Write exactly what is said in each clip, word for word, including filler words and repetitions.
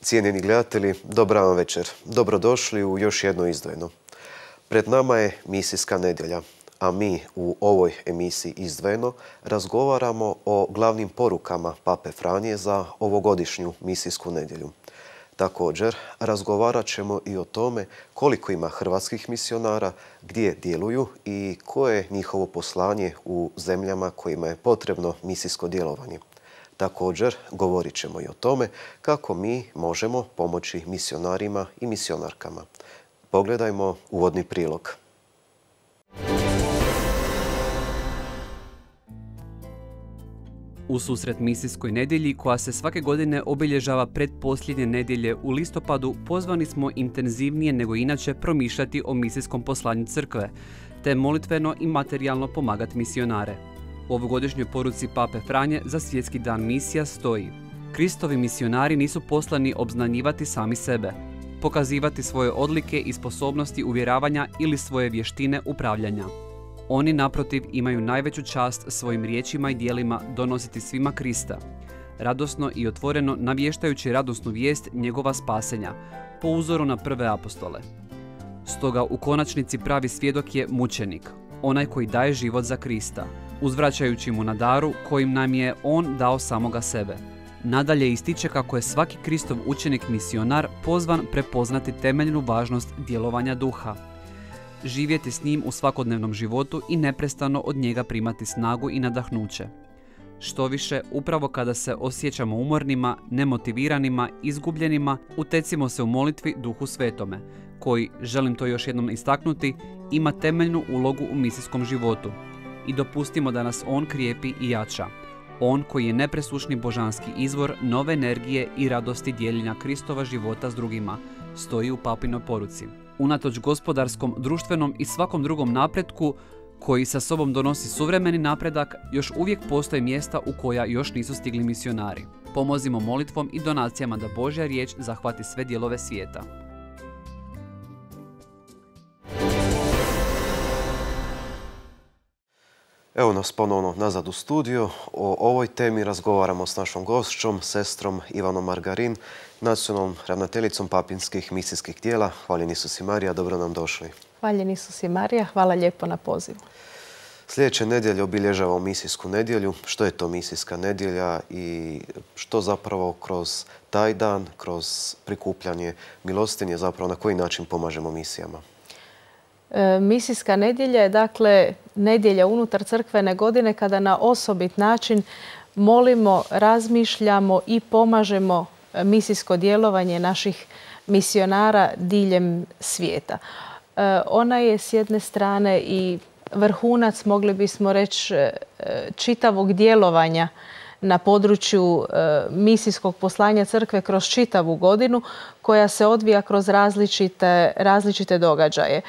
Cijenjeni gledatelji, dobra vam večer. Dobrodošli u još jedno izdvojeno. Pred nama je misijska nedjelja, a mi u ovoj emisiji Izdvojeno razgovaramo o glavnim porukama Pape Franje za ovogodišnju misijsku nedjelju. Također, razgovarat ćemo i o tome koliko ima hrvatskih misionara, gdje djeluju i koje je njihovo poslanje u zemljama kojima je potrebno misijsko djelovanje. Također, govorit ćemo i o tome kako mi možemo pomoći misionarima i misionarkama. Pogledajmo uvodni prilog. U susret misijskoj nedjelji, koja se svake godine obilježava pretposljednje nedjelje u listopadu, pozvani smo intenzivnije nego inače promišljati o misijskom poslanju crkve, te molitveno i materijalno pomagati misionare. U ovogodišnjoj poruci Pape Franje za Svjetski dan misija stoji: Kristovi misionari nisu poslani obznanjivati sami sebe, pokazivati svoje odlike i sposobnosti uvjeravanja ili svoje vještine upravljanja. Oni, naprotiv, imaju najveću čast svojim riječima i djelima donositi svima Krista, radosno i otvoreno navještajući radosnu vijest njegova spasenja, po uzoru na prve apostole. Stoga u konačnici pravi svjedok je mučenik, onaj koji daje život za Krista, uzvraćajući mu na daru kojim nam je on dao samoga sebe. Nadalje ističe kako je svaki Kristov učenik misionar pozvan prepoznati temeljnu važnost djelovanja duha, živjeti s njim u svakodnevnom životu i neprestano od njega primati snagu i nadahnuće. Štoviše, upravo kada se osjećamo umornima, nemotiviranima, izgubljenima, utecimo se u molitvi Duhu Svetome, koji, želim to još jednom istaknuti, ima temeljnu ulogu u misijskom životu. I dopustimo da nas on krijepi i jača. On koji je nepresušni božanski izvor nove energije i radosti dijeljenja Kristova života s drugima, stoji u papinoj poruci. Unatoč gospodarskom, društvenom i svakom drugom napretku koji sa sobom donosi suvremeni napredak, još uvijek postoje mjesta u koja još nisu stigli misionari. Pomozimo molitvom i donacijama da Božja riječ zahvati sve dijelove svijeta. Evo nas ponovno nazad u studiju. O ovoj temi razgovaramo s našom gošćom, sestrom Ivanom Margarin, nacionalnom ravnateljicom papinskih misijskih tijela. Hvaljeni Isus i Marija, dobro nam došli. Hvaljeni Isus i Marija, hvala lijepo na pozivu. Sljedeće nedjelje obilježavamo misijsku nedjelju. Što je to misijska nedjelja i što zapravo kroz taj dan, kroz prikupljanje milostinje, zapravo na koji način pomažemo misijama? E, misijska nedjelja je dakle nedjelja unutar crkvene godine kada na osobit način molimo, razmišljamo i pomažemo misijsko djelovanje naših misionara diljem svijeta. E, ona je s jedne strane i vrhunac, mogli bismo reći, čitavog djelovanja na području e, misijskog poslanja crkve kroz čitavu godinu, koja se odvija kroz različite, različite događaje.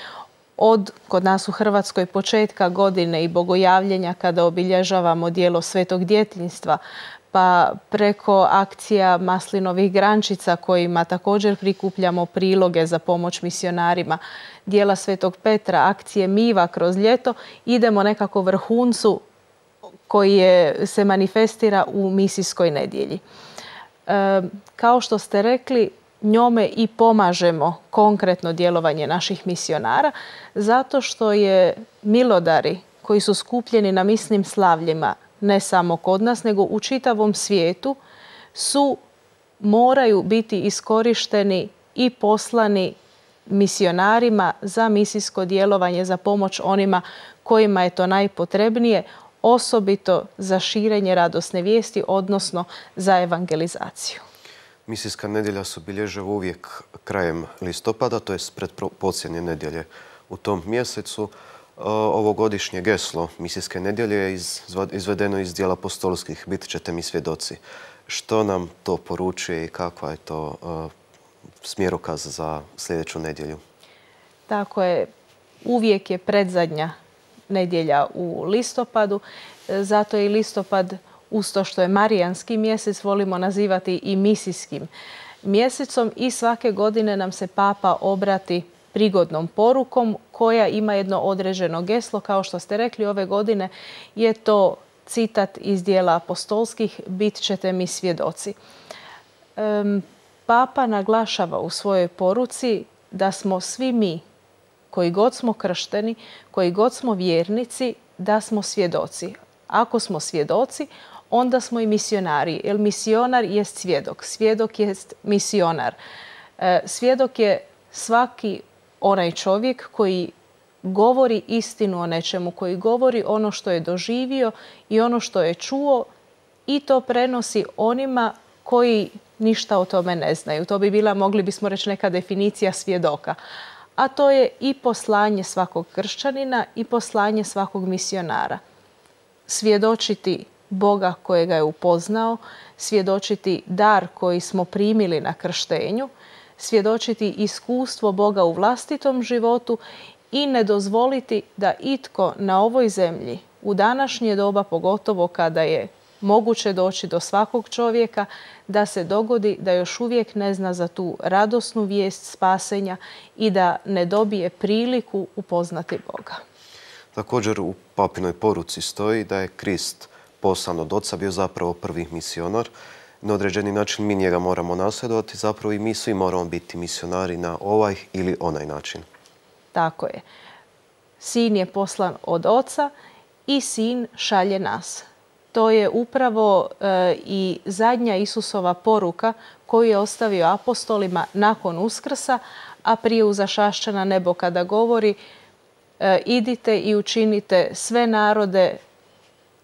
Od, kod nas u Hrvatskoj, početka godine i bogojavljenja kada obilježavamo djelo Svetog djetinjstva, pa preko akcija maslinovih grančica kojima također prikupljamo priloge za pomoć misionarima, djela Svetog Petra, akcije Miva kroz ljeto, idemo nekako vrhuncu koji je, se manifestira u misijskoj nedjelji. E, kao što ste rekli, njome i pomažemo konkretno djelovanje naših misionara, zato što je milodari koji su skupljeni na misnim slavljima, ne samo kod nas, nego u čitavom svijetu, su, moraju biti iskorišteni i poslani misionarima za misijsko djelovanje, za pomoć onima kojima je to najpotrebnije, osobito za širenje radosne vijesti, odnosno za evangelizaciju. Misijska nedjelja se obilježava uvijek krajem listopada, to je pred posljednje nedjelje u tom mjesecu. Ovogodišnje geslo misijske nedjelje je izvedeno iz djela apostolskih, bit ćete mi svjedoci. Što nam to poručuje i kakva je to smjerokaz za sljedeću nedjelju? Tako je, uvijek je predzadnja nedjelja u listopadu, zato je i listopad, uz to što je marijanski mjesec, volimo nazivati i misijskim mjesecom, i svake godine nam se Papa obrati prigodnom porukom koja ima jedno određeno geslo. Kao što ste rekli, ove godine je to citat iz djela apostolskih: bit ćete mi svjedoci. Um, Papa naglašava u svojoj poruci da smo svi mi, koji god smo kršteni, koji god smo vjernici, da smo svjedoci. Ako smo svjedoci, onda smo i misionari, jer misionar jest svjedok. Svjedok jest misionar. Svjedok je svaki onaj čovjek koji govori istinu o nečemu, koji govori ono što je doživio i ono što je čuo i to prenosi onima koji ništa o tome ne znaju. To bi bila, mogli bismo reći, neka definicija svjedoka. A to je i poslanje svakog kršćanina i poslanje svakog misionara. Svjedočiti Boga kojega je upoznao, svjedočiti dar koji smo primili na krštenju, svjedočiti iskustvo Boga u vlastitom životu i ne dozvoliti da itko na ovoj zemlji u današnje doba, pogotovo kada je moguće doći do svakog čovjeka, da se dogodi da još uvijek ne zna za tu radosnu vijest spasenja i da ne dobije priliku upoznati Boga. Također u papinoj poruci stoji da je Krist poslan od Oca bio zapravo prvi misionar. Na određeni način mi njega moramo nasljedovati, zapravo i mi svi moramo biti misionari na ovaj ili onaj način. Tako je. Sin je poslan od Oca i Sin šalje nas. To je upravo e, i zadnja Isusova poruka koju je ostavio apostolima nakon Uskrsa, a prije uzašašća na nebo kada govori e, idite i učinite sve narode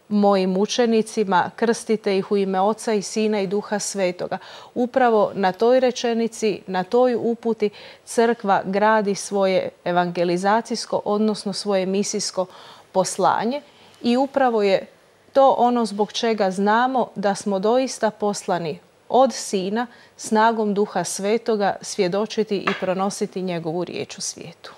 mojim učenicima, krstite ih u ime Oca i Sina i Duha Svetoga. Upravo na toj rečenici, na toj uputi crkva gradi svoje evangelizacijsko, odnosno svoje misijsko poslanje i upravo je to ono zbog čega znamo da smo doista poslani od Sina snagom Duha Svetoga svjedočiti i pronositi njegovu riječ u svijetu.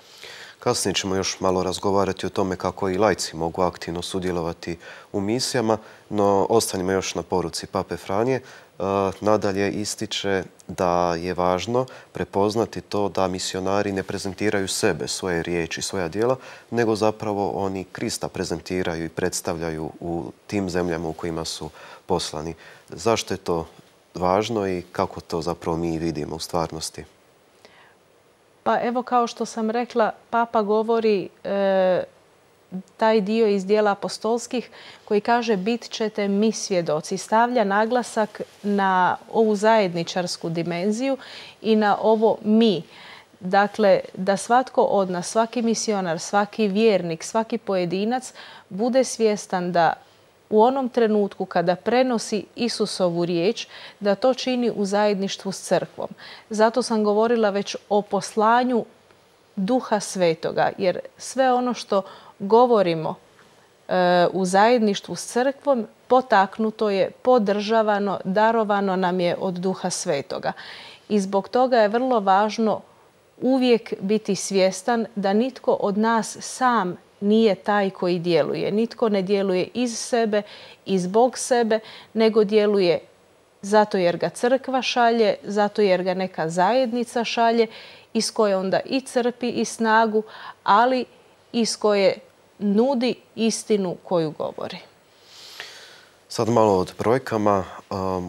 Kasnije ćemo još malo razgovarati o tome kako i laici mogu aktivno sudjelovati u misijama, no ostanimo još na poruci Pape Franje. Nadalje ističe da je važno prepoznati to da misionari ne prezentiraju sebe, svoje riječi, svoja djela, nego zapravo oni Krista prezentiraju i predstavljaju u tim zemljama u kojima su poslani. Zašto je to važno i kako to zapravo mi vidimo u stvarnosti? Pa evo, kao što sam rekla, Papa govori e, taj dio iz dijela apostolskih koji kaže bit ćete mi svjedoci. Stavlja naglasak na ovu zajedničarsku dimenziju i na ovo mi. Dakle, da svatko od nas, svaki misionar, svaki vjernik, svaki pojedinac bude svjestan da u onom trenutku kada prenosi Isusovu riječ, da to čini u zajedništvu s crkvom. Zato sam govorila već o poslanju Duha Svetoga, jer sve ono što govorimo e, u zajedništvu s crkvom potaknuto je, podržavano, darovano nam je od Duha Svetoga. I zbog toga je vrlo važno uvijek biti svjestan da nitko od nas sam nije taj koji djeluje. Nitko ne djeluje iz sebe i zbog sebe, nego djeluje zato jer ga crkva šalje, zato jer ga neka zajednica šalje, iz koje onda i crpi i snagu, ali iz koje nudi istinu koju govori. Sad malo od brojkama.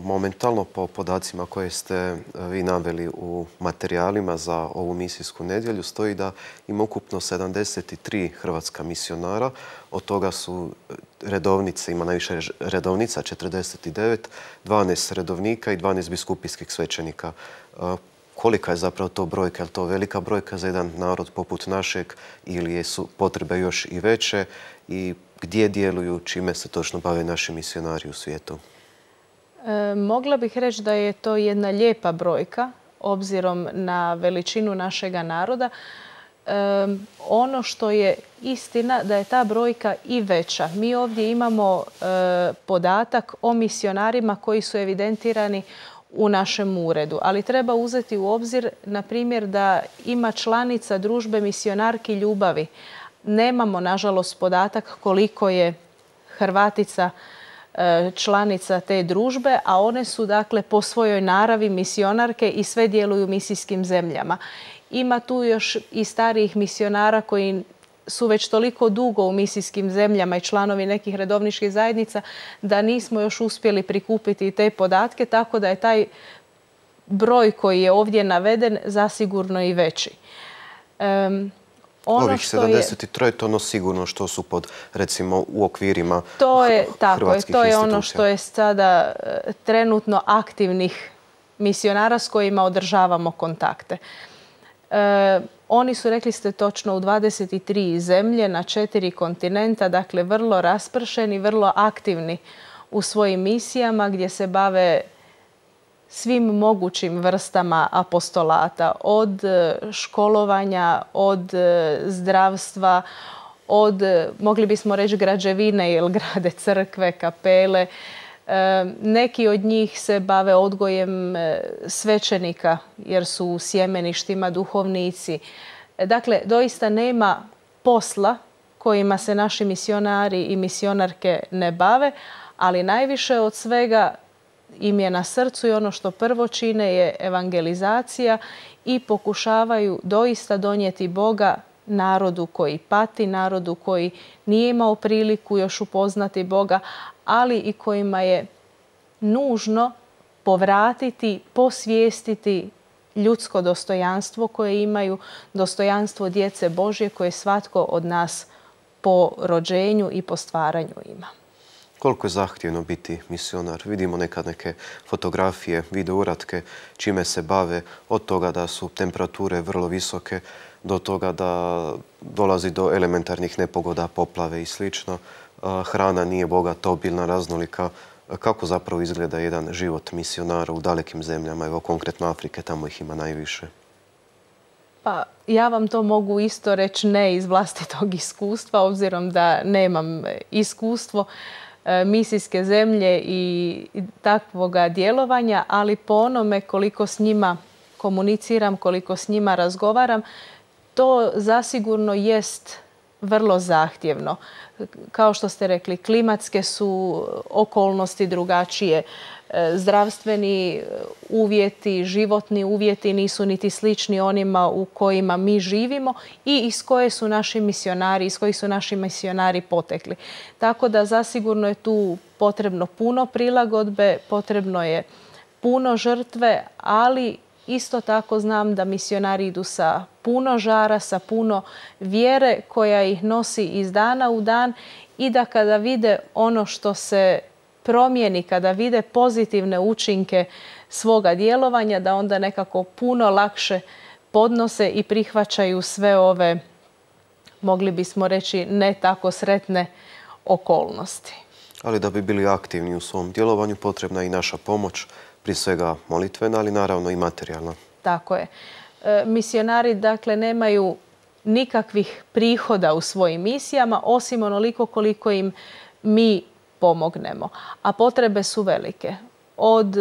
Momentalno po podacima koje ste vi naveli u materijalima za ovu misijsku nedjelju stoji da ima ukupno sedamdeset tri hrvatska misionara. Od toga su redovnice, ima najviše redovnica, četrdeset devet, dvanaest redovnika i dvanaest biskupijskih svećenika. Kolika je zapravo to brojka? Je li to velika brojka za jedan narod poput našeg ili su potrebe još i veće? I gdje djeluju, čime se točno bave naši misionari u svijetu? E, mogla bih reći da je to jedna lijepa brojka, obzirom na veličinu našega naroda. E, ono što je istina da je ta brojka i veća. Mi ovdje imamo e, podatak o misionarima koji su evidentirani u našem uredu, ali treba uzeti u obzir, na primjer, da ima članica Družbe misionarki ljubavi. Nemamo, nažalost, podatak koliko je Hrvatica članica te družbe, a one su, dakle, po svojoj naravi misionarke i sve djeluju u misijskim zemljama. Ima tu još i starijih misionara koji su već toliko dugo u misijskim zemljama i članovi nekih redovničkih zajednica da nismo još uspjeli prikupiti te podatke, tako da je taj broj koji je ovdje naveden zasigurno i veći. Um, ono Ovih sedamdeset tri je to ono sigurno što su pod, recimo, u okvirima to je, tako je, hrvatskih to je institucija. ono što je sada trenutno aktivnih misionara s kojima održavamo kontakte. E, oni su, rekli ste točno, u dvadeset tri zemlje na četiri kontinenta, dakle vrlo raspršeni, vrlo aktivni u svojim misijama gdje se bave svim mogućim vrstama apostolata, od školovanja, od zdravstva, od, mogli bismo reći, građevine, jer grade crkve, kapele. Neki od njih se bave odgojem svećenika jer su u sjemeništima duhovnici. Dakle, doista nema posla kojima se naši misionari i misionarke ne bave, ali najviše od svega im je na srcu i ono što prvo čine je evangelizacija i pokušavaju doista donijeti Boga narodu koji pati, narodu koji nije imao priliku još upoznati Boga, ali i kojima je nužno povratiti, posvijestiti ljudsko dostojanstvo koje imaju, dostojanstvo djece Božje koje svatko od nas po rođenju i po stvaranju ima. Koliko je zahtjevno biti misionar? Vidimo nekad neke fotografije, video uratke, čime se bave, od toga da su temperature vrlo visoke, do toga da dolazi do elementarnih nepogoda, poplave i slično. Hrana nije bogata, obilna, raznolika. Kako zapravo izgleda jedan život misionara u dalekim zemljama, evo konkretno Afrike, tamo ih ima najviše? Pa ja vam to mogu isto reći ne iz vlastitog iskustva, obzirom da nemam iskustvo misijske zemlje i takvoga djelovanja, ali po onome koliko s njima komuniciram, koliko s njima razgovaram, to zasigurno jest vrlo zahtjevno. Kao što ste rekli, klimatske su okolnosti drugačije, zdravstveni uvjeti, životni uvjeti nisu niti slični onima u kojima mi živimo i iz koje su naši misionari, iz kojih su naši misionari potekli. Tako da zasigurno je tu potrebno puno prilagodbe, potrebno je puno žrtve, ali isto tako znam da misionari idu sa puno žara, sa puno vjere koja ih nosi iz dana u dan i da kada vide ono što se promijeni, kada vide pozitivne učinke svoga djelovanja, da onda nekako puno lakše podnose i prihvaćaju sve ove, mogli bismo reći, ne tako sretne okolnosti. Ali da bi bili aktivni u svom djelovanju potrebna je i naša pomoć, prije svega molitvena, ali naravno i materijalna. Tako je. E, misionari, dakle, nemaju nikakvih prihoda u svojim misijama, osim onoliko koliko im mi pomognemo. A potrebe su velike. Od,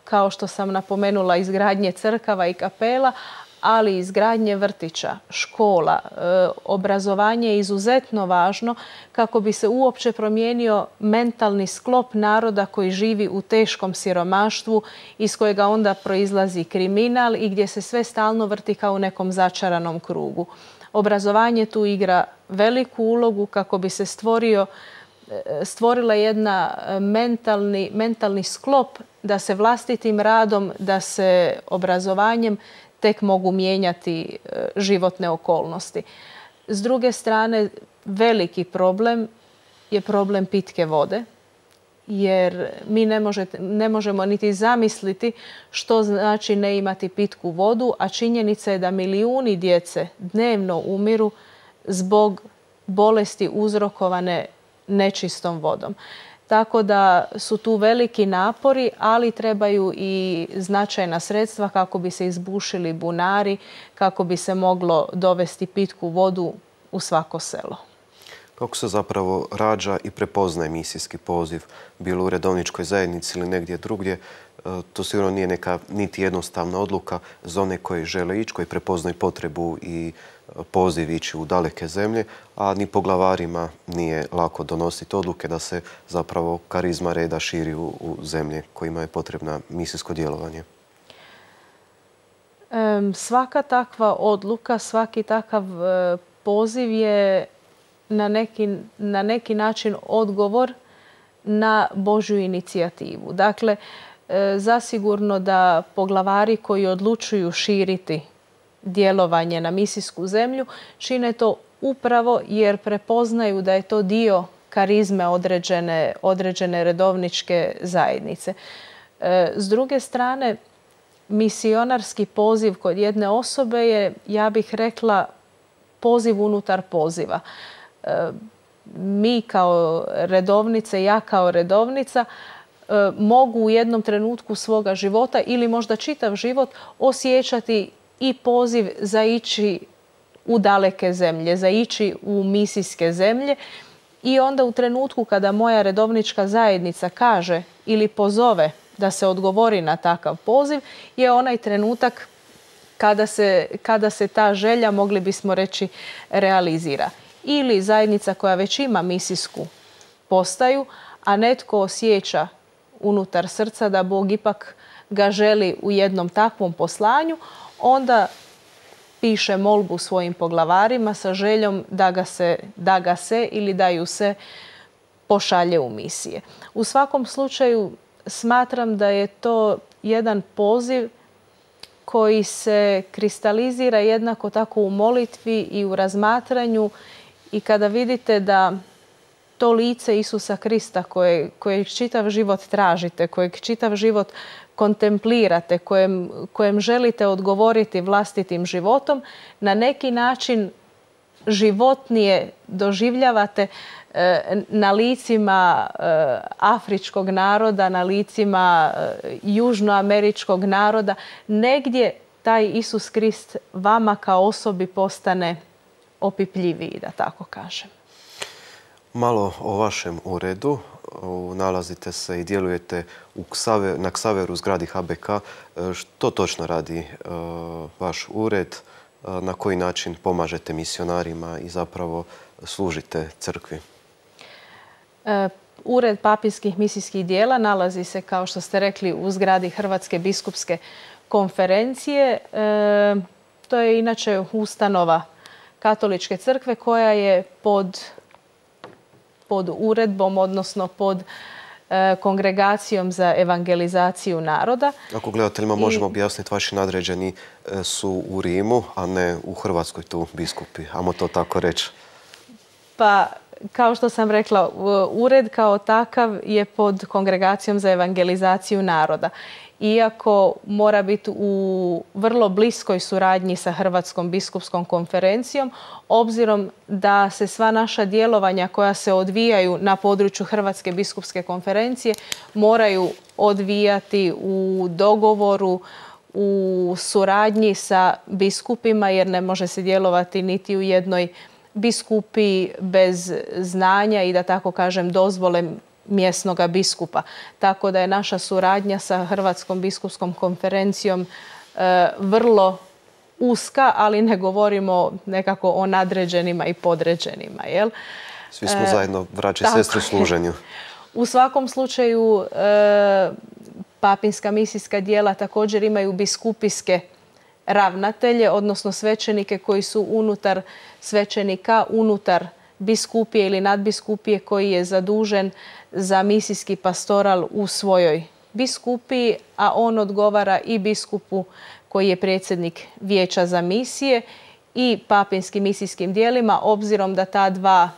kao što sam napomenula, izgradnje crkava i kapela, ali i izgradnje vrtića, škola. E, obrazovanje je izuzetno važno kako bi se uopće promijenio mentalni sklop naroda koji živi u teškom siromaštvu, iz kojega onda proizlazi kriminal i gdje se sve stalno vrti kao u nekom začaranom krugu. Obrazovanje tu igra veliku ulogu kako bi se stvorio stvorila jedna mentalni, mentalni sklop da se vlastitim radom, da se obrazovanjem tek mogu mijenjati životne okolnosti. S druge strane, veliki problem je problem pitke vode, jer mi ne, možete, ne možemo niti zamisliti što znači ne imati pitku vodu, a činjenica je da milijuni djece dnevno umiru zbog bolesti uzrokovane nečistom vodom. Tako da su tu veliki napori, ali trebaju i značajna sredstva kako bi se izbušili bunari, kako bi se moglo dovesti pitku vodu u svako selo. Kako se zapravo rađa i prepoznaje misijski poziv, bilo u redovničkoj zajednici ili negdje drugdje? To sigurno nije neka niti jednostavna odluka za one koji žele ići, koji prepoznaju potrebu i poziv ići u daleke zemlje, a ni poglavarima nije lako donositi odluke da se zapravo karizma reda širi u, u zemlje kojima je potrebna misijsko djelovanje. Svaka takva odluka, svaki takav poziv je na neki, na neki način odgovor na Božju inicijativu. Dakle, zasigurno da poglavari koji odlučuju širiti djelovanje na misijsku zemlju čine to upravo jer prepoznaju da je to dio karizme određene, određene redovničke zajednice. S druge strane, misionarski poziv kod jedne osobe je, ja bih rekla, poziv unutar poziva. Mi kao redovnice, ja kao redovnica, mogu u jednom trenutku svoga života ili možda čitav život osjećati i poziv za ići u daleke zemlje, za ići u misijske zemlje. I onda u trenutku kada moja redovnička zajednica kaže ili pozove da se odgovori na takav poziv, je onaj trenutak kada se, kada se ta želja, mogli bismo reći, realizira. Ili zajednica koja već ima misijsku postaju, a netko osjeća unutar srca da Bog ipak ga želi u jednom takvom poslanju, onda piše molbu svojim poglavarima sa željom da ga se, da ga se ili da ju se pošalje u misije. U svakom slučaju smatram da je to jedan poziv koji se kristalizira jednako tako u molitvi i u razmatranju i kada vidite da to lice Isusa Krista koje, kojeg čitav život tražite, kojeg čitav život kontemplirate, kojem, kojem želite odgovoriti vlastitim životom, na neki način životnije doživljavate na licima afričkog naroda, na licima južnoameričkog naroda. Negdje taj Isus Krist vama kao osobi postane opipljiviji, da tako kažem. Malo o vašem uredu. Nalazite se i djelujete u Ksaver, na Ksaveru zgradi H B K. Što točno radi vaš ured? Na koji način pomažete misionarima i zapravo služite crkvi? Ured papinskih misijskih dijela nalazi se, kao što ste rekli, u zgradi Hrvatske biskupske konferencije. To je inače ustanova Katoličke crkve koja je pod, pod uredbom, odnosno pod Kongregacijom za evangelizaciju naroda. Ako gledateljima možemo objasniti, vaši nadređeni su u Rimu, a ne u Hrvatskoj tu biskupi. Ajmo to tako reći. Pa, kao što sam rekla, ured kao takav je pod Kongregacijom za evangelizaciju naroda. Iako mora biti u vrlo bliskoj suradnji sa Hrvatskom biskupskom konferencijom, obzirom da se sva naša djelovanja koja se odvijaju na području Hrvatske biskupske konferencije moraju odvijati u dogovoru, u suradnji sa biskupima, jer ne može se djelovati niti u jednoj biskupiji bez znanja i, da tako kažem, dozvole mjesnog biskupa. Tako da je naša suradnja sa Hrvatskom biskupskom konferencijom e, vrlo uska, ali ne govorimo nekako o nadređenima i podređenima. Jel? Svi smo e, zajedno braće i sestre u služenju. U svakom slučaju e, papinska misijska dijela također imaju biskupijske ravnatelje, odnosno svećenike koji su unutar svećenika, unutar biskupije ili nadbiskupije koji je zadužen za misijski pastoral u svojoj biskupiji, a on odgovara i biskupu koji je predsjednik Vijeća za misije i papinskim misijskim dijelima, obzirom da ta dva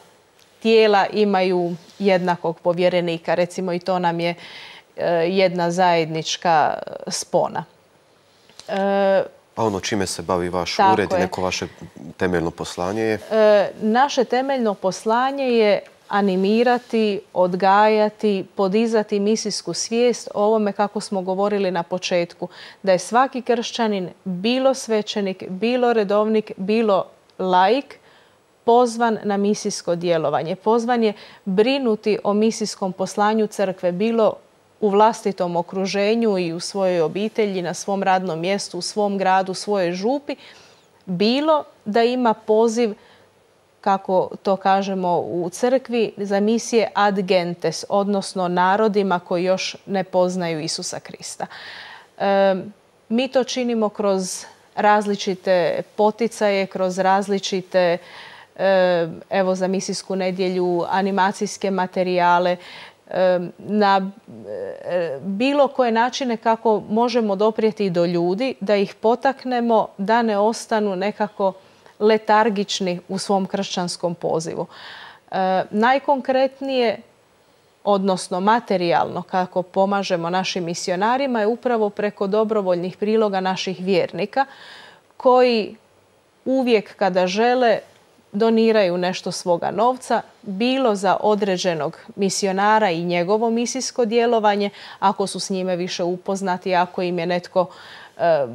tijela imaju jednakog povjerenika. Recimo, i to nam je jedna zajednička spona. E, A ono čime se bavi vaš ured i neko vaše temeljno poslanje je? E, naše temeljno poslanje je animirati, odgajati, podizati misijsku svijest o ovome, kako smo govorili na početku, da je svaki kršćanin, bilo svećenik, bilo redovnik, bilo laik, pozvan na misijsko djelovanje. Pozvan je brinuti o misijskom poslanju crkve, bilo u vlastitom okruženju i u svojoj obitelji, na svom radnom mjestu, u svom gradu, u svojoj župi, bilo da ima poziv, kako to kažemo u crkvi, za misije ad gentes, odnosno narodima koji još ne poznaju Isusa Krista. E, mi to činimo kroz različite poticaje, kroz različite, e, evo za misijsku nedjelju, animacijske materijale. na bilo koje načine kako možemo doprijeti do ljudi, da ih potaknemo da ne ostanu nekako letargični u svom kršćanskom pozivu. Najkonkretnije, odnosno materijalno kako pomažemo našim misionarima, je upravo preko dobrovoljnih priloga naših vjernika koji uvijek kada žele doniraju nešto svoga novca, bilo za određenog misionara i njegovo misijsko djelovanje, ako su s njime više upoznati, ako im je netko e,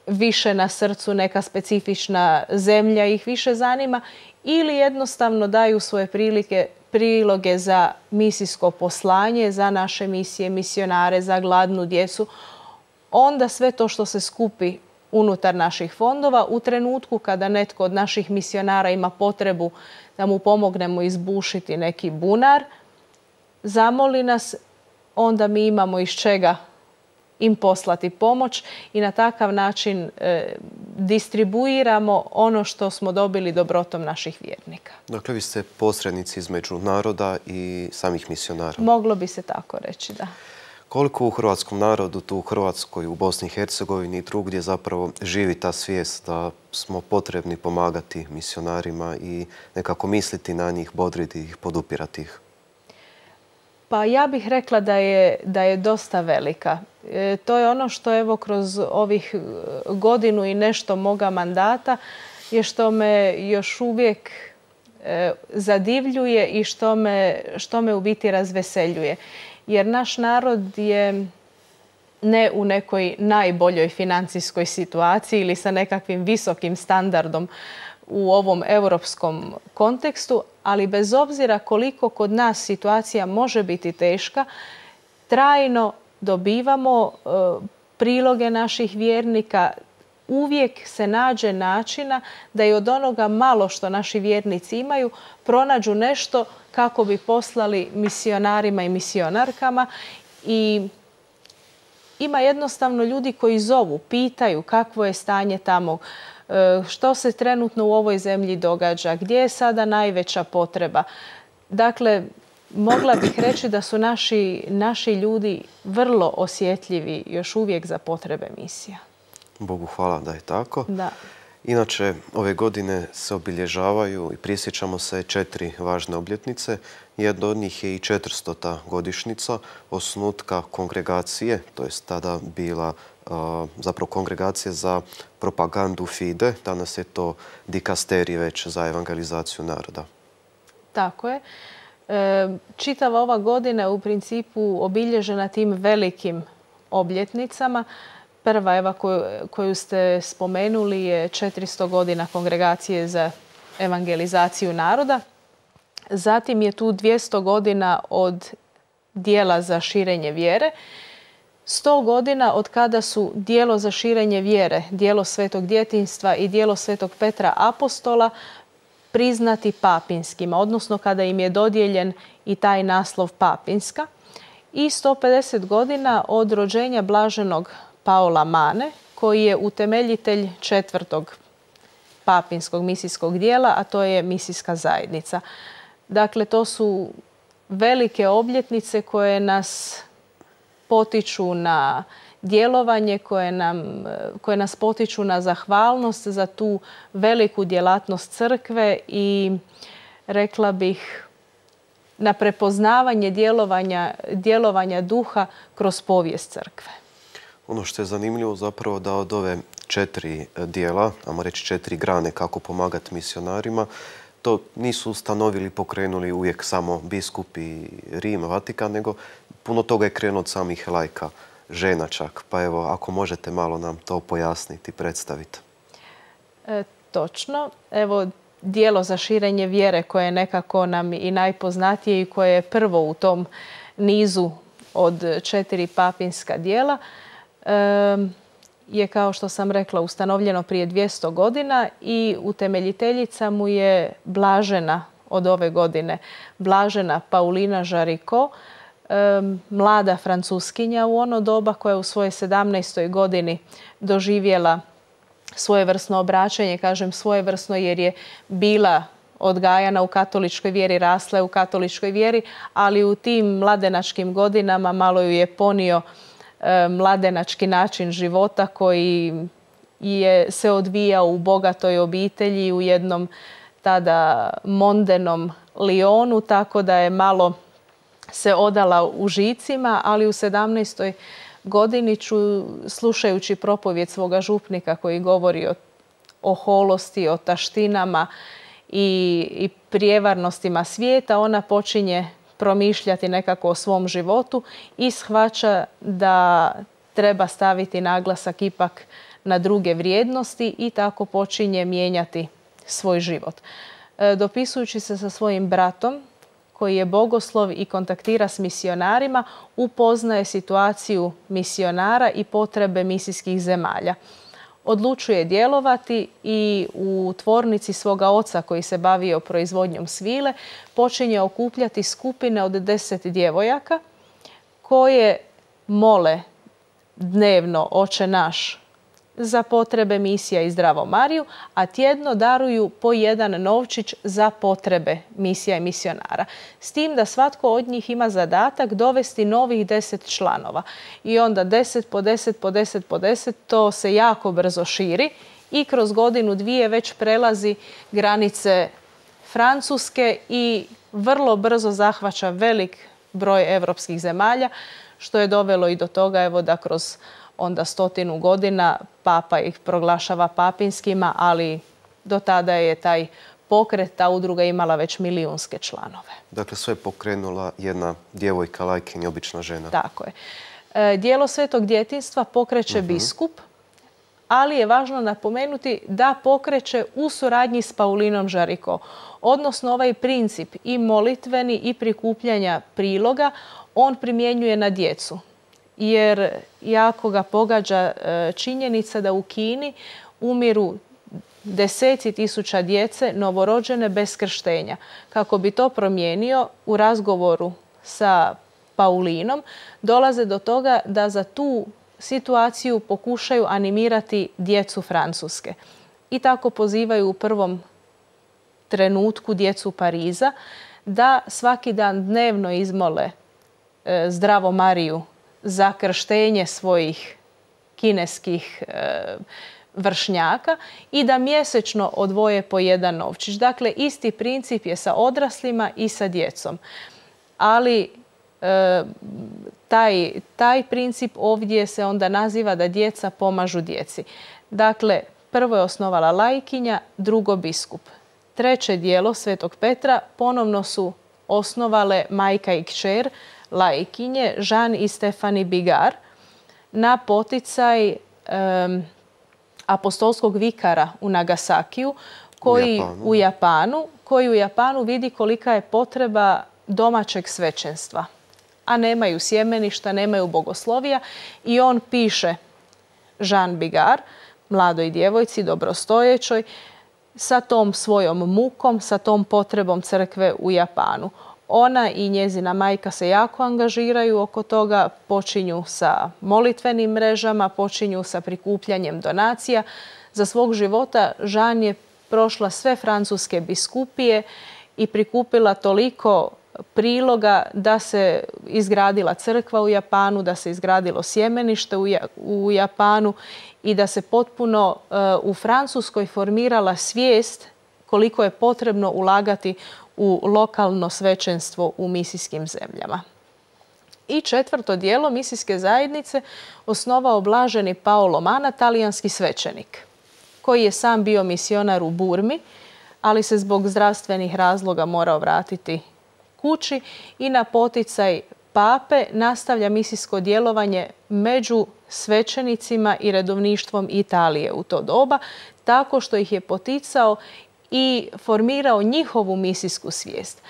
više na srcu, neka specifična zemlja ih više zanima, ili jednostavno daju svoje prilike, priloge za misijsko poslanje, za naše misije, misionare, za gladnu djecu. Onda sve to što se skupi unutar naših fondova, u trenutku kada netko od naših misionara ima potrebu da mu pomognemo izbušiti neki bunar, zamoli nas, onda mi imamo iz čega im poslati pomoć i na takav način e, distribuiramo ono što smo dobili dobrotom naših vjernika. Dakle, vi ste posrednici između naroda i samih misionara. Moglo bi se tako reći, da. Koliko u hrvatskom narodu, tu u Hrvatskoj, u Bosni i Hercegovini i drugdje zapravo živi ta svijest da smo potrebni pomagati misionarima i nekako misliti na njih, bodriti ih, podupirati ih? Pa ja bih rekla da je, da je dosta velika. E, to je ono što evo kroz ovih godinu i nešto moga mandata je što me još uvijek e, zadivljuje i što me, što me u biti razveseljuje. Jer naš narod je ne u nekoj najboljoj financijskoj situaciji ili sa nekakvim visokim standardom u ovom europskom kontekstu, ali bez obzira koliko kod nas situacija može biti teška, trajno dobivamo e, priloge naših vjernika. Uvijek se nađe načina da i od onoga malo što naši vjernici imaju pronađu nešto kako bi poslali misionarima i misionarkama. I ima jednostavno ljudi koji zovu, pitaju kakvo je stanje tamo, što se trenutno u ovoj zemlji događa, gdje je sada najveća potreba. Dakle, mogla bih reći da su naši, naši ljudi vrlo osjetljivi još uvijek za potrebe misija. Bogu hvala da je tako. Da. Inače, ove godine se obilježavaju i prisjećamo se četiri važne obljetnice. Jedna od njih je i četiristota godišnjica osnutka kongregacije, to je tada bila zapravo kongregacija za propagandu FIDE. Danas je to dikasterij već za evangelizaciju naroda. Tako je. Čitava ova godina je u principu obilježena tim velikim obljetnicama. Prva eva koju, koju ste spomenuli je četiristo godina kongregacije za evangelizaciju naroda. Zatim je tu dvjesto godina od dijela za širenje vjere. sto godina od kada su dijelo za širenje vjere, dijelo Svetog djetinjstva i dijelo Svetog Petra Apostola priznati papinskima, odnosno kada im je dodijeljen i taj naslov papinska. I sto pedeset godina od rođenja blaženog Paola Mane, koji je utemeljitelj četvrtog papinskog misijskog dijela, a to je misijska zajednica. Dakle, to su velike obljetnice koje nas potiču na djelovanje, koje, nam, koje nas potiču na zahvalnost za tu veliku djelatnost crkve i rekla bih na prepoznavanje djelovanja, djelovanja duha kroz povijest crkve. Ono što je zanimljivo zapravo da od ove četiri dijela, ajmo reći četiri grane kako pomagati misionarima, to nisu ustanovili, pokrenuli uvijek samo biskupi Rim, Vatikan, nego puno toga je krenuo od samih lajka, žena čak. Pa evo, ako možete malo nam to pojasniti, predstaviti. E, točno. Evo, dijelo za širenje vjere koje je nekako nam i najpoznatije i koje je prvo u tom nizu od četiri papinska dijela, e, je, kao što sam rekla, ustanovljeno prije dvjesto godina i utemeljiteljica mu je blažena od ove godine, blažena Paulina Jaricot, mlada Francuskinja u ono doba koja je u svojoj sedamnaestoj godini doživjela svojevrsno obraćanje. Kažem svojevrsno jer je bila odgajana u katoličkoj vjeri, rasla je u katoličkoj vjeri, ali u tim mladenačkim godinama malo ju je ponio e, mladenački način života koji je se odvijao u bogatoj obitelji, u jednom tada mondenom Lionu, tako da je malo se odala užicima, ali u sedamnaestoj godini ću, slušajući propovjed svoga župnika koji govori o, o holosti, o taštinama i, i prijevarnostima svijeta, ona počinje promišljati nekako o svom životu i shvaća da treba staviti naglasak ipak na druge vrijednosti i tako počinje mijenjati svoj život. E, dopisujući se sa svojim bratom, koji je bogoslov i kontaktira s misionarima, upoznaje situaciju misionara i potrebe misijskih zemalja. Odlučuje djelovati i u tvornici svoga oca, koji se bavio proizvodnjom svile, počinje okupljati skupine od deset djevojaka koje mole dnevno Oče naš za potrebe misija i Zdravo Mariju, a tjedno daruju po jedan novčić za potrebe misija i misionara. S tim da svatko od njih ima zadatak dovesti novih deset članova. I onda deset po deset po deset po deset, to se jako brzo širi i kroz godinu dvije već prelazi granice Francuske i vrlo brzo zahvaća velik broj europskih zemalja, što je dovelo i do toga evo, da kroz onda stotinu godina papa ih proglašava papinskima, ali do tada je taj pokret, ta udruga imala već milijunske članove. Dakle, sve je pokrenula jedna djevojka, lajkinja, obična žena. Tako je. E, djelo Svetog djetinjstva pokreće uh-huh. biskup, ali je važno napomenuti da pokreće u suradnji s Paulinom Jaricot. Odnosno ovaj princip i molitveni i prikupljanja priloga on primjenjuje na djecu. Jer jako ga pogađa činjenica da u Kini umiru deseci tisuća djece novorođene bez krštenja. Kako bi to promijenio, u razgovoru sa Paulinom dolaze do toga da za tu situaciju pokušaju animirati djecu Francuske. I tako pozivaju u prvom trenutku djecu Pariza da svaki dan dnevno izmole Zdravo Mariju za krštenje svojih kineskih e, vršnjaka i da mjesečno odvoje po jedan novčić. Dakle, isti princip je sa odraslima i sa djecom. Ali e, taj, taj princip ovdje se onda naziva da djeca pomažu djeci. Dakle, prvo je osnovala lajkinja, drugo biskup. Treće dijelo Svetog Petra ponovno su osnovale majka i kćer, lajkinje Jean i Stephanie Bigard na poticaj um, apostolskog vikara u Nagasakiju koji, u, Japanu. u Japanu, koji u Japanu vidi kolika je potreba domaćeg svećenstva. A nemaju sjemeništa, nemaju bogoslovija i on piše Jean Bigard, mladoj djevojci, dobrostojećoj, sa tom svojom mukom, sa tom potrebom crkve u Japanu. Ona i njezina majka se jako angažiraju oko toga, počinju sa molitvenim mrežama, počinju sa prikupljanjem donacija. Za svog života Jean je prošla sve francuske biskupije i prikupila toliko priloga da se izgradila crkva u Japanu, da se izgradilo sjemenište u Japanu i da se potpuno u Francuskoj formirala svijest koliko je potrebno ulagati u lokalno svećenstvo u misijskim zemljama. I četvrto dijelo misijske zajednice osnovao blaženi Paolo Manna, talijanski svećenik, koji je sam bio misionar u Burmi, ali se zbog zdravstvenih razloga morao vratiti kući i na poticaj pape nastavlja misijsko djelovanje među svećenicima i redovništvom Italije u to doba, tako što ih je poticao i formirao njihovu misijsku svijest.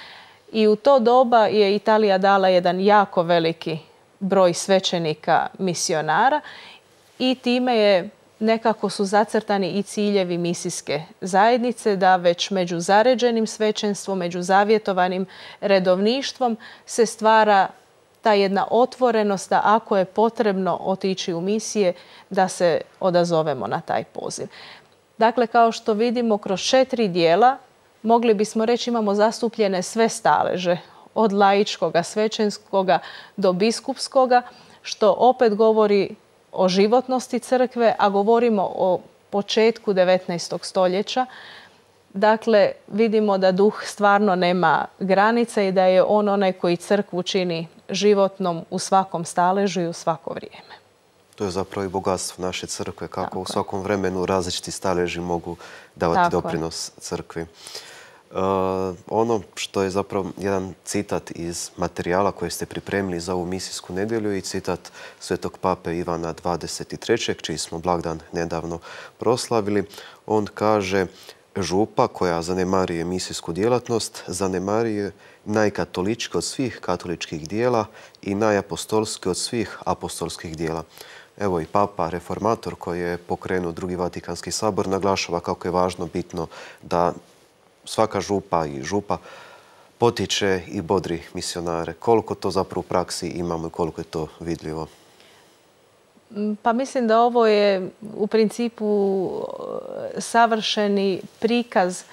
I u to doba je Italija dala jedan jako veliki broj svećenika misionara i time je nekako su zacrtani i ciljevi misijske zajednice da već među zaređenim svećenstvom, među zavjetovanim redovništvom se stvara ta jedna otvorenost da ako je potrebno otići u misije, da se odazovemo na taj poziv. Dakle, kao što vidimo, kroz četiri dijela mogli bismo reći imamo zastupljene sve staleže, od laičkoga, svećenskoga do biskupskoga, što opet govori o životnosti crkve, a govorimo o početku devetnaestog stoljeća. Dakle, vidimo da duh stvarno nema granica i da je on onaj koji crkvu čini životnom u svakom staležu i u svako vrijeme. To je zapravo i bogatstvo naše crkve, kako Tako u svakom je. vremenu različiti staleži mogu davati Tako doprinos je. crkvi. Uh, ono što je zapravo jedan citat iz materijala koje ste pripremili za ovu misijsku nedjelju i citat svetog pape Ivana dvadeset trećeg čiji smo blagdan nedavno proslavili. On kaže: župa koja zanemarije misijsku djelatnost zanemarije najkatolički od svih katoličkih dijela i najapostolski od svih apostolskih dijela. Evo i Papa, reformator koji je pokrenuo Drugi Vatikanski sabor, naglašava kako je važno, bitno da svaka župa i župa potiče i bodri misionare. Koliko to zapravo u praksi imamo i koliko je to vidljivo? Pa mislim da ovo je u principu savršeni prikaz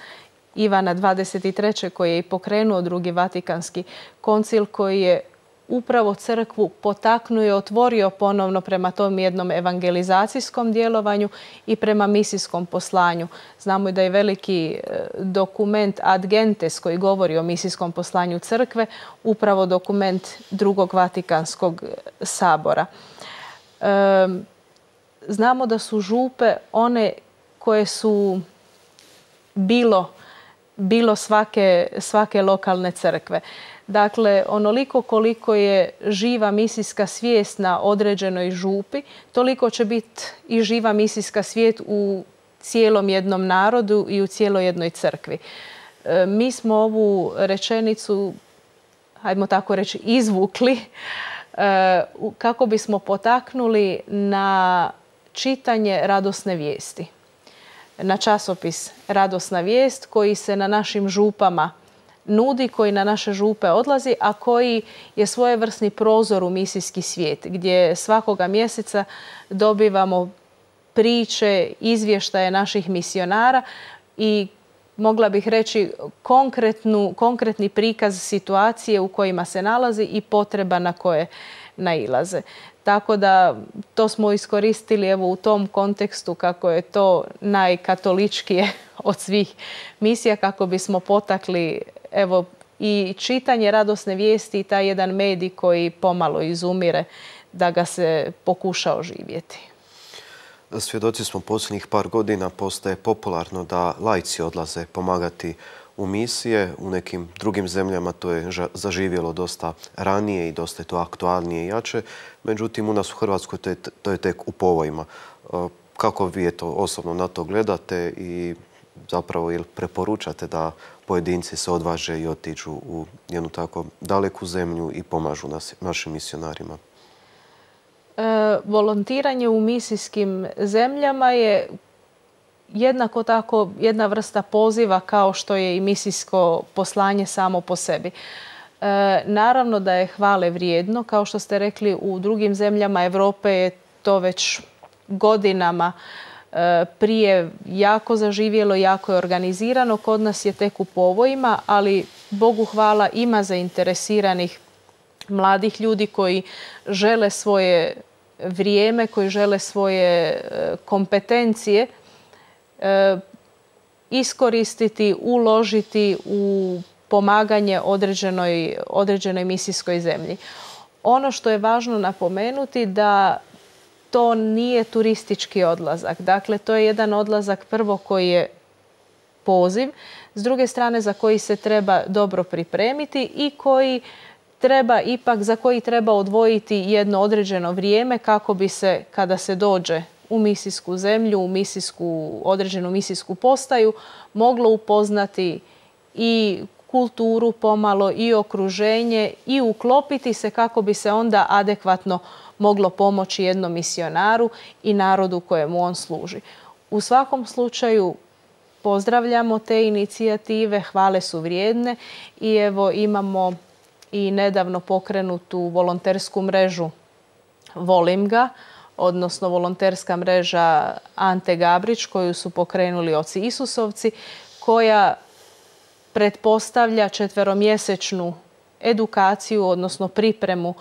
Ivana dvadeset trećeg koji je i pokrenuo Drugi Vatikanski koncil, koji je upravo crkvu potaknuo i otvorio ponovno prema tom jednom evangelizacijskom djelovanju i prema misijskom poslanju. Znamo i da je veliki dokument Ad Gentes koji govori o misijskom poslanju crkve upravo dokument Drugog Vatikanskog sabora. E, znamo da su župe one koje su bilo, bilo svake, svake lokalne crkve. Dakle, onoliko koliko je živa misijska svijest na određenoj župi, toliko će biti i živa misijska svijest u cijelom jednom narodu i u cijeloj jednoj crkvi. E, mi smo ovu rečenicu, hajdemo tako reći, izvukli e, kako bismo potaknuli na čitanje radosne vijesti. Na časopis Radosna vijest koji se na našim župama nudi, koji na naše župe odlazi, a koji je svojevrsni prozor u misijski svijet, gdje svakoga mjeseca dobivamo priče, izvještaje naših misionara i mogla bih reći konkretni prikaz situacije u kojima se nalazi i potreba na koje nailaze. Tako da to smo iskoristili evo u tom kontekstu kako je to najkatoličkije od svih misija, kako bismo potakli evo i čitanje radosne vijesti i taj jedan medij koji pomalo izumire, da ga se pokuša oživjeti. Svjedoci smo posljednjih par godina, postaje popularno da laici odlaze pomagati u misije. U nekim drugim zemljama to je zaživjelo dosta ranije i dosta je to aktualnije i jače. Međutim, u nas u Hrvatskoj to je, to je tek u povojima. Kako vi to osobno na to gledate i zapravo ili preporučate da pojedinci se odvaže i otiđu u jednu tako daleku zemlju i pomažu nas, našim misionarima? E, volontiranje u misijskim zemljama je jednako tako jedna vrsta poziva kao što je i misijsko poslanje samo po sebi. E, naravno da je hvale vrijedno. Kao što ste rekli, u drugim zemljama Europe je to već godinama e, prije jako zaživjelo, jako je organizirano. Kod nas je tek u povojima, ali Bogu hvala ima zainteresiranih mladih ljudi koji žele svoje vrijeme, koji žele svoje kompetencije e, iskoristiti, uložiti u pomaganje određenoj, određenoj misijskoj zemlji. Ono što je važno napomenuti da to nije turistički odlazak. Dakle, to je jedan odlazak prvo koji je poziv, s druge strane za koji se treba dobro pripremiti i koji treba ipak, za koji treba odvojiti jedno određeno vrijeme kako bi se, kada se dođe u misijsku zemlju, u misijsku, određenu misijsku postaju, moglo upoznati i kulturu pomalo i okruženje i uklopiti se kako bi se onda adekvatno moglo pomoći jednom misionaru i narodu kojemu on služi. U svakom slučaju pozdravljamo te inicijative, hvale su vrijedne i evo imamo i nedavno pokrenutu volontersku mrežu Volim ga, odnosno volonterska mreža Ante Gabrić koju su pokrenuli oci Isusovci, koja pretpostavlja četveromjesečnu edukaciju, odnosno pripremu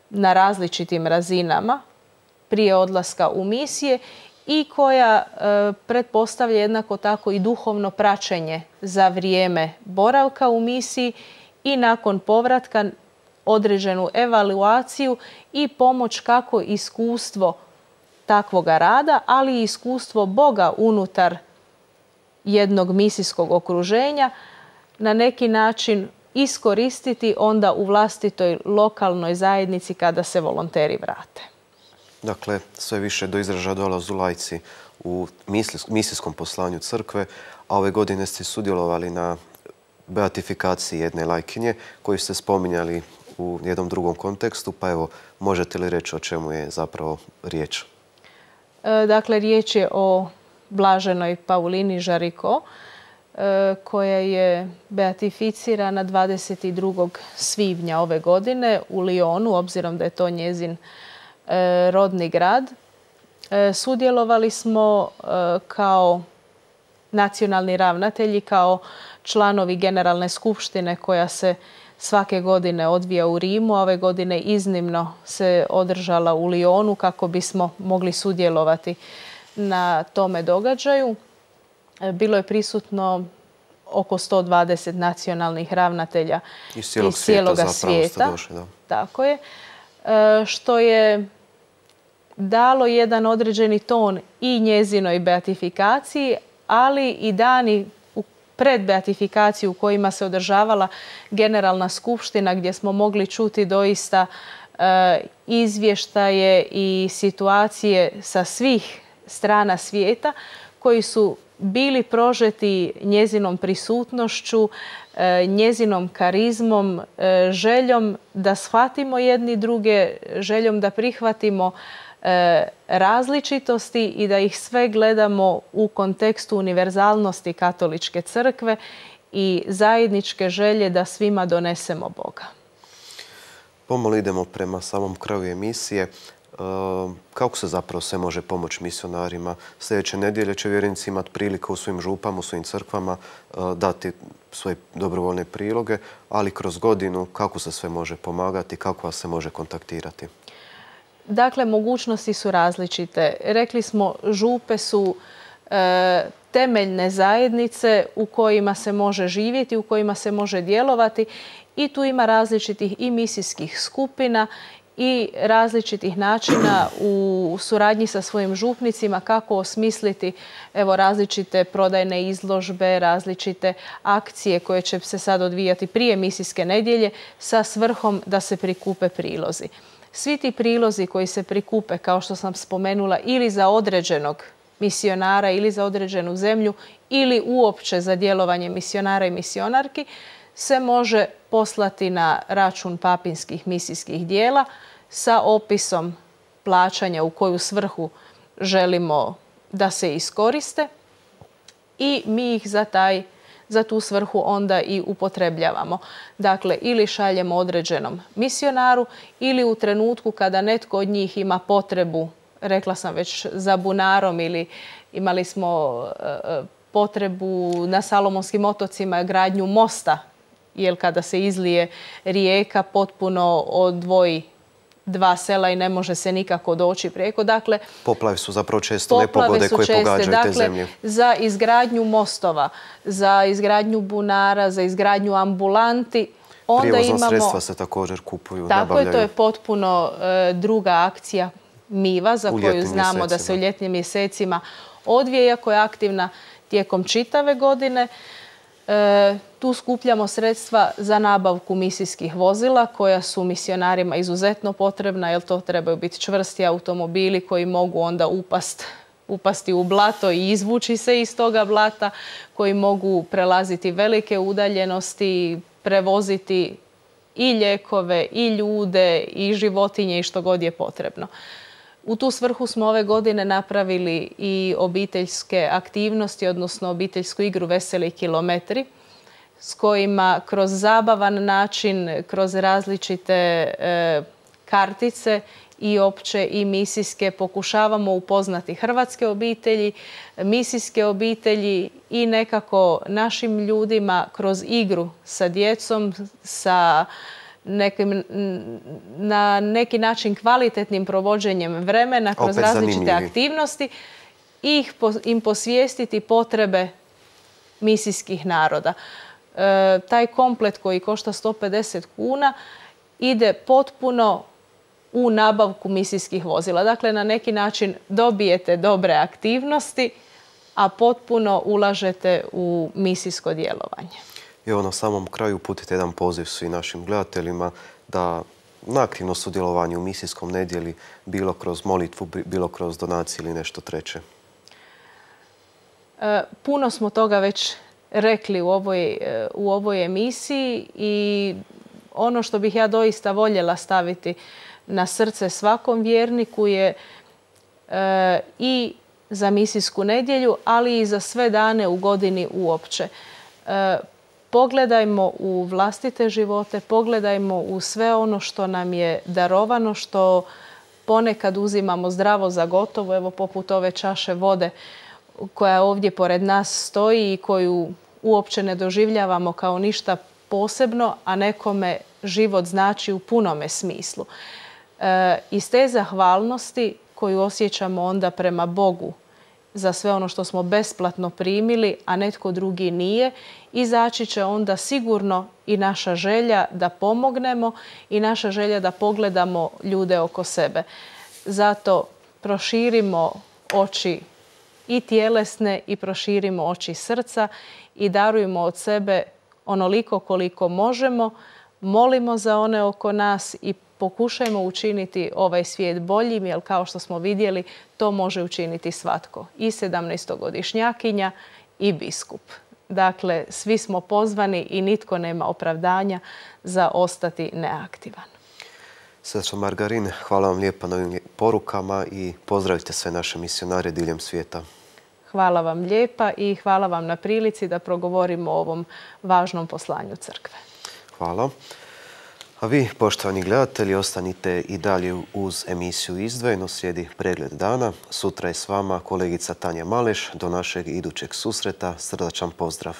na različitim razinama prije odlaska u misije i koja e, pretpostavlja jednako tako i duhovno praćenje za vrijeme boravka u misiji i nakon povratka određenu evaluaciju i pomoć kako iskustvo takvoga rada, ali i iskustvo Boga unutar jednog misijskog okruženja na neki način iskoristiti onda u vlastitoj lokalnoj zajednici kada se volonteri vrate. Dakle, sve više do izražaja dolaze laici u misijskom poslanju crkve, a ove godine ste sudjelovali na beatifikaciji jedne lajkinje koju ste spominjali u jednom drugom kontekstu, pa evo, možete li reći o čemu je zapravo riječ? E, dakle, riječ je o blaženoj Paulini Jaricot, e, koja je beatificirana dvadeset drugog svibnja ove godine u Lyonu, obzirom da je to njezin e, rodni grad. E, sudjelovali smo e, kao nacionalni ravnatelji, kao članovi Generalne skupštine koja se svake godine odvija u Rimu. Ove godine iznimno se održala u Lyonu kako bismo mogli sudjelovati na tome događaju. Bilo je prisutno oko sto dvadeset nacionalnih ravnatelja iz cijelog iz cijeloga svijeta. Došli, da. Tako je. Što je dalo jedan određeni ton i njezinoj beatifikaciji, ali i dani pred beatifikaciju u kojima se održavala Generalna skupština, gdje smo mogli čuti doista e, izvještaje i situacije sa svih strana svijeta koji su bili prožeti njezinom prisutnošću, e, njezinom karizmom, e, željom da shvatimo jedni druge, željom da prihvatimo različitosti i da ih sve gledamo u kontekstu univerzalnosti katoličke crkve i zajedničke želje da svima donesemo Boga. Pomalo idemo prema samom kraju emisije. Kako se zapravo sve može pomoći misionarima? Sljedeće nedjelje će vjernici imati prilike u svojim župama, u svojim crkvama dati svoje dobrovoljne priloge, ali kroz godinu kako se sve može pomagati, kako vas se može kontaktirati? Dakle, mogućnosti su različite. Rekli smo, župe su e, temeljne zajednice u kojima se može živjeti, u kojima se može djelovati i tu ima različitih i misijskih skupina i različitih načina u suradnji sa svojim župnicima kako osmisliti evo, različite prodajne izložbe, različite akcije koje će se sad odvijati prije misijske nedjelje sa svrhom da se prikupe prilozi. Svi ti prilozi koji se prikupe, kao što sam spomenula, ili za određenog misionara ili za određenu zemlju ili uopće za djelovanje misionara i misionarki, se može poslati na račun papinskih misijskih dijela sa opisom plaćanja u koju svrhu želimo da se iskoriste i mi ih za taj za tu svrhu onda i upotrebljavamo. Dakle, ili šaljemo određenom misionaru ili u trenutku kada netko od njih ima potrebu, rekla sam već, za bunarom ili imali smo potrebu na Salomonskim otocima gradnju mosta, jer kada se izlije rijeka potpuno odvoji dva sela i ne može se nikako doći preko. Dakle, poplave su zapravo često nepogode koje pogađaju dakle, te zemlje. Za izgradnju mostova, za izgradnju bunara, za izgradnju ambulanti. Onda Prijevozna imamo, sredstva se također kupuju, tako nabavljaju. je, to je potpuno e, druga akcija Miva za U koju ljetnim znamo mjesecima. da se u ljetnim mjesecima odvija, iako je aktivna tijekom čitave godine. E, tu skupljamo sredstva za nabavku misijskih vozila koja su misionarima izuzetno potrebna, jer to trebaju biti čvrsti automobili koji mogu onda upast, upasti u blato i izvući se iz toga blata, koji mogu prelaziti velike udaljenosti, prevoziti i lijekove, i ljude, i životinje i što god je potrebno. U tu svrhu smo ove godine napravili i obiteljske aktivnosti, odnosno obiteljsku igru Veseli kilometri, s kojima kroz zabavan način, kroz različite e, kartice i opće i misijske. Pokušavamo upoznati hrvatske obitelji, misijske obitelji i nekako našim ljudima kroz igru sa djecom, sa nekim, na neki način kvalitetnim provođenjem vremena kroz Opet različite zanimljivi. aktivnosti i ih po- im posvijestiti potrebe misijskih naroda. E, taj komplet koji košta sto pedeset kuna ide potpuno u nabavku misijskih vozila. Dakle, na neki način dobijete dobre aktivnosti, a potpuno ulažete u misijsko djelovanje. I evo na samom kraju uputite jedan poziv svim našim gledateljima da na aktivno sudjelovanje u misijskom nedjelji, bilo kroz molitvu, bilo kroz donacije ili nešto treće. E, puno smo toga već rekli u ovoj, e, u ovoj emisiji i ono što bih ja doista voljela staviti na srce svakom vjerniku je e, i za misijsku nedjelju, ali i za sve dane u godini uopće. E, pogledajmo u vlastite živote, pogledajmo u sve ono što nam je darovano, što ponekad uzimamo zdravo za gotovo, evo poput ove čaše vode koja ovdje pored nas stoji i koju uopće ne doživljavamo kao ništa posebno, a nekome život znači u punome smislu. E, iz te zahvalnosti koju osjećamo onda prema Bogu za sve ono što smo besplatno primili, a netko drugi nije, izaći će onda sigurno i naša želja da pomognemo i naša želja da pogledamo ljude oko sebe. Zato proširimo oči i tjelesne i proširimo oči srca i darujmo od sebe onoliko koliko možemo, molimo za one oko nas i pokušajmo učiniti ovaj svijet boljim, jer kao što smo vidjeli, to može učiniti svatko. I sedamnaestogodišnjakinja i biskup. Dakle, svi smo pozvani i nitko nema opravdanja za ostati neaktivan. Sestra Margarin, hvala vam lijepa na ovim porukama i pozdravite sve naše misionare diljem svijeta. Hvala vam lijepa i hvala vam na prilici da progovorimo o ovom važnom poslanju crkve. Hvala. A vi, poštovani gledatelji, ostanite i dalje uz emisiju Izdvojeno, slijedi pregled dana. Sutra je s vama kolegica Tanja Maleš. Do našeg idućeg susreta srdačan pozdrav.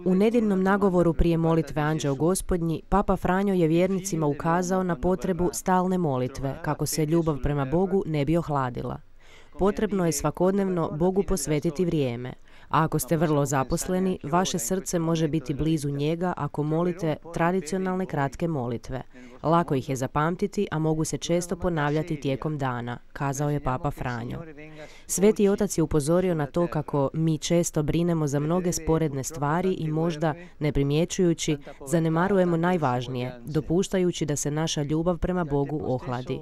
U nedjeljnom nagovoru prije molitve Anđeo Gospodnji, Papa Franjo je vjernicima ukazao na potrebu stalne molitve, kako se ljubav prema Bogu ne bi ohladila. Potrebno je svakodnevno Bogu posvetiti vrijeme, a ako ste vrlo zaposleni, vaše srce može biti blizu njega ako molite tradicionalne kratke molitve. Lako ih je zapamtiti, a mogu se često ponavljati tijekom dana, kazao je Papa Franjo. Sveti otac je upozorio na to kako mi često brinemo za mnoge sporedne stvari i možda, ne primjećujući, zanemarujemo najvažnije, dopuštajući da se naša ljubav prema Bogu ohladi.